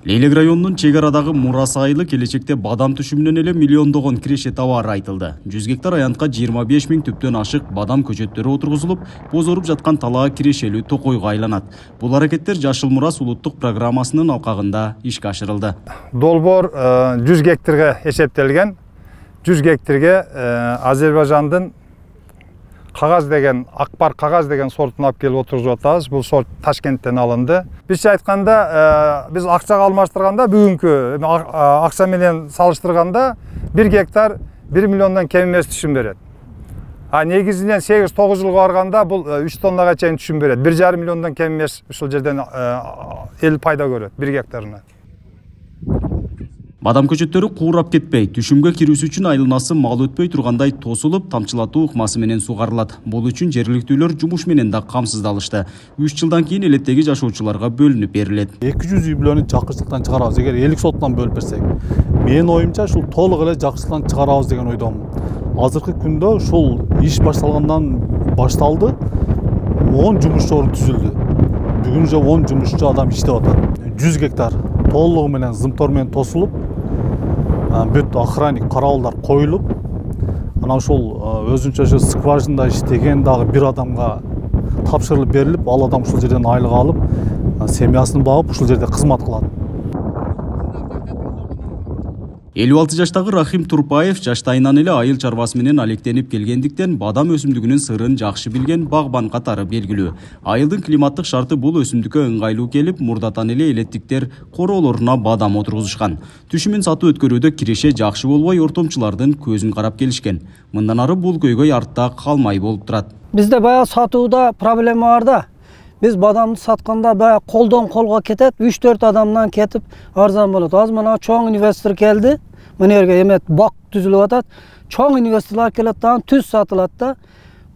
Лейлек районунун чек арадагы Мурас айылы келечекте бадам түшүмүнөн эле миллиондогон киреше табары айтылды. 100 гектар аянтка 25 000 түптөн ашык бадам көчөттөрү отургузулуп, бозоруп жаткан талаа кирешелүү токойго айланат. Бул аракеттер Жашыл Мурас улуттук программасынын алкагында ишке ашырылды. Долбоор 100 гектарга эсептелген. 100 гектарга Азербайжандын кагаз деген, акбар кагаз деген сортун алып келип отургузуп атабыз. Бул сорт Ташкенттен алынды. Бизче айтканда, биз акчага алмаштырганда бүгүнкү акча менен салыштырганда 1 гектар 1 миллиондон кем эмес түшүм берет. Негизинен 8-9 жылга барганда бул 3 тоннага чейин түшүм берет. 1,5 миллиондон кем эмес ушул жерден эл пайда көрөт 1 гектарына. Бадам көчөттөрү куурап кетпей, түшүмгө кирүүсү үчүн айланасы мал өтпөй тургандай тосулуп, тамчылатуу ыкмасы менен сугарылат. Бул үчүн жергиликтүүлөр жумуш менен да камсыздалышты. 3 жылдан кийин элеттеги жашоочуларга бөлүнүп берилет. 200 үй бүлөнү жакшылыктан чыгарабыз. Эгер элик соттан бөлүп берсек, менин оюмча ушул толук эле жакшылыктан чыгарабыз деген ойдомун. Азыркы күндө ушул иш башталгандан башталды, 10 жумуш орун түзүлдү. Бүгүн уже 10 жумушчу адам иштеп атат. 100 гектар толугу менен зымтор менен тосулуп, бүт охранник караалдар коюлуп, анан ушул өзүнчө скважинада иштеген дагы бир адамга тапшырылып берилип, ал адам ушул жерден айлык алып, семьясын багып, ушул жерде кызмат кылат. 56 жаштагы Рахим Турпаев жаштайынан эле айыл чарбасы менен алектенип келгендиктен бадам өсүмдүгүнүн сырын жакшы билген багбан катары белгилүү. Айылдын климаттык шарты бул өсүмдүккө ыңгайлуу келип, мурдатан эле элеттиктер короолоруна бадам отургузушкан. Түшүмүн сатып өткөрүүдө киреше жакшы болбой, ортомчулардын көзүн карап келишкен. Мындан ары бул көйгөй артта калмай болуп турат. Бизде бая сатууда проблема бар да. Биз бадамды сатканда бая колдон колго кетет, 3-4 адамдан кетип арзан болот. Азыр мына чоң инвестор келди. Мына жерге эмет бак түзүлүп атат. Чоң инвесторлор келет да, түз сатылат да.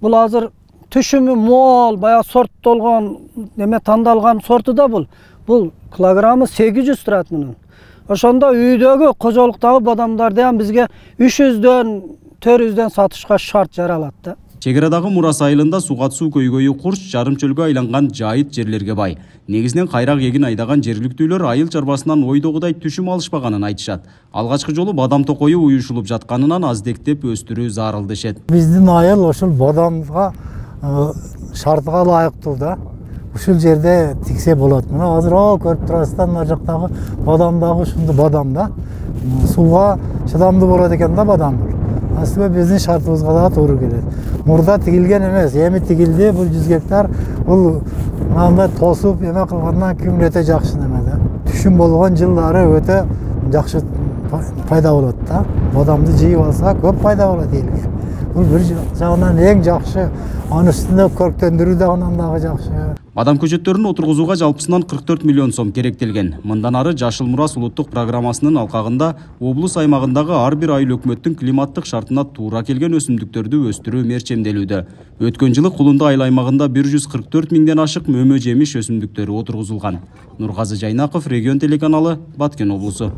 Бул азыр түшүмү мол, бая сорттолгон, тандалган сорту да бул. Бул килограммы 800 турат мунун. Ошондо үйдөгү кожолуктагы бадамдарды ham бизге 300дөн 400дөн сатышка шарт жаралат да. Чек арадагы Мурас айылында сугат-суу көйгөйү курч, жарым чөлгө айланган жайыт жерлерге бай. Негизинен кайрак эгин айдаган жергиликтүүлөр айыл чарбасынан ойдогудай түшүм алышпаганын айтышат. Алгачкы жолу бадам токою уюшулуп жатканынан аздектеп өстүрүү зарыл дешет. Биздин айыл ошол бадамга шартыга ылайыктуу да. Ушул жерде тиксе болот. Мына азыр көрүп турасыздар, мына жактагы бадам дагы ушундай бадам да. Сууга чыдамдуу болот экен да бадам бул. Аслында биздин шартыбызга да туура келет. Мурда тигилген эмес, эми тигилди. Бул 100 гектар бул мындай тосуп эме кылгандан кийин өтө жакшы неме да. Түшүм болгон жылдары өтө жакшы пайда болот да. Бадамды жыйып алса көп пайда болот элге. Бул бир жагынан эң жакшы, анын үстүнө көрктөндүрүү да андан дагы жакшы. Бадам көчөттөрүн отургузууга жалпысынан 44 миллион сом керектелген. Мындан ары Жашыл Мурас улуттук программасынын алкагында облус аймагындагы ар бир айыл өкмөттүн климаттык шартына туура келген өсүмдүктөрдү өстүрүү мерчемделүүдө. Өткөн жылы Кулунду айыл аймагында 144 миңден ашык мөмө жемиш өсүмдүктөрү отургузулган. Нургазы Жайнаков, Регион телеканалы, Баткен облусу.